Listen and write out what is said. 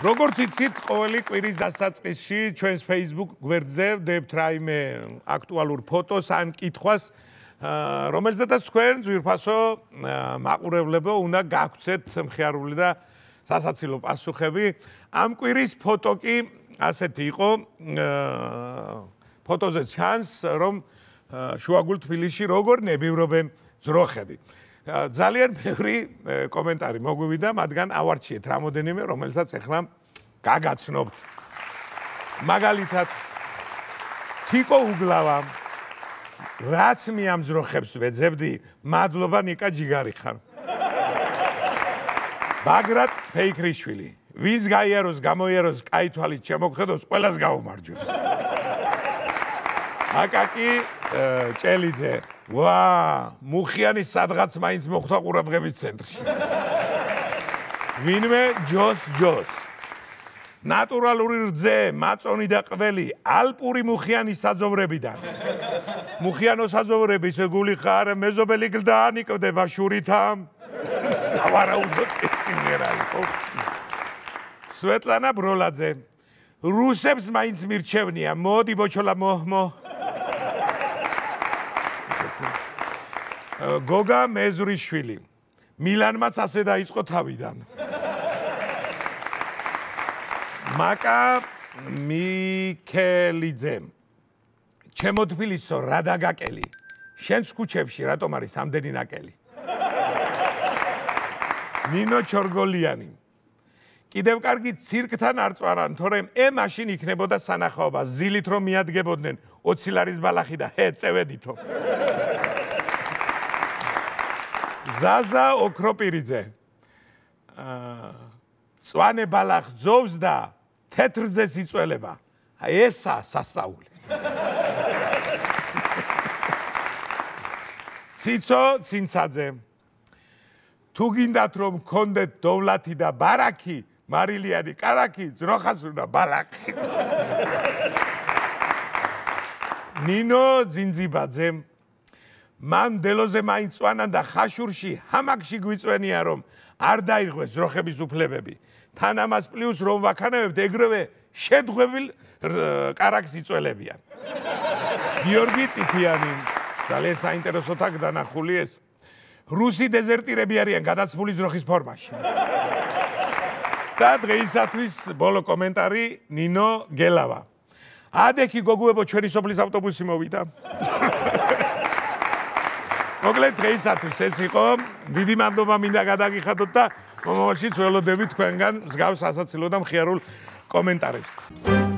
როგორც იცით, ყოველი კვირის დასაწყისში ჩვენს Facebook გვერდზე ვდებთ რაიმე აქტუალურ ფოტოს ან კითხვას, რომელზედაც თქვენ ძვირფასო მაყურებლებო უნდა გაგვცეთ მხიარული და სასაცილო პასუხები. ამ კვირის ფოტო კი ასეთი იყო, ფოტოზე ჩანს, რომ შუაგულ თბილისში როგორ ნებივრობენ ძროხები. ძალიან ბევრი კომენტარი მოგვივიდა, მათგან ავარჩიეთ რამოდენიმე, რომელსაც ახლა გაგაცნობთ. მაგალითად, თიკო უგლავა, რაც მე ამ ძროხებს ვეძებდი, მადლობა ნიკა ჯიგარი ხარ. ბაგრატ ფეიქრიშვილი, ვინც გაიაროს, გამოიაროს, კაი თვალით შემოგხედოს, ყველას გაუმარჯოს. აკაკი ჭელიძე, ვა, მუხიანი სადღაც მაინც მოხვდა ყურადღების ცენტრში. ვინმე ჯოს. ნატურალური რძე, მაწონი და ყველი, ალპური მუხიანი საძოვრებიდან. მუხიანო საძოვრები, ისე გული ხარ, მეზობელი გლდანი კვდება შურითა. სავარაუდოდ ესიმერა იყო. სვეტლანა ბროლაძე, რუსებს მაინც მირჩევნია, მოდი ბოჩოლა მოჰმო. გოგა მეზრიშვილი, მილანმაც ასე დაიწყო თავიდან. მაკა მიქელიძე, ჩემო თბილისო, რა დაგაკელი, შენს ქუჩებში რატომ არის ამდენი ნაკელი? ნინო ჩორგოლიანი, კიდევ კარგი ცირკთან არ წვარან, თორემ მაშინ იქნებოდა სანახაობა, ზილით რომ მიადგებოდნენ 20 ლარის ბალახი და წევედითო. ზაზა ოქროპირიძე, წვანე ბალახ ძოვს და თეთრზე სიწველება, ესა სასაული. ციცო ცინცაძე, თუ გინდათ რომ გქონდეთ დოვლათი და ბარაკი, მარილიანი კარაკი, ძროხას უნდა ბალახი. ნინო ძინძიბაძე, მან დელოზე მაინც წვანან და ხაშურში ჰამაკში გვიწვენია რომ არ დაიღოს ძროხების უფლებები. თან ამას პლუს რომ ვაქანებებთ ეგრევე შედგებილ კარაკს იწველებიან. გიორგი წიფიანი, ძალიან საინტერესო თქ დანახული ეს. რუსი დეზერტირები არიან გადაცმული ძროხის ფორმაში. და დღეისათვის ბოლო კომენტარი ნინო გელავა. ადექი გოგუებო ჩვენი სოფლის ავტობუსი მოვიდა. მოკლედ დღეისათვის ეს იყო, დიდი მადლობა მინდა გადაგიხადოთ და მომავალშიც ველოდებით თქვენგან მსგავს სასაცილო და მხიარულ კომენტარებს.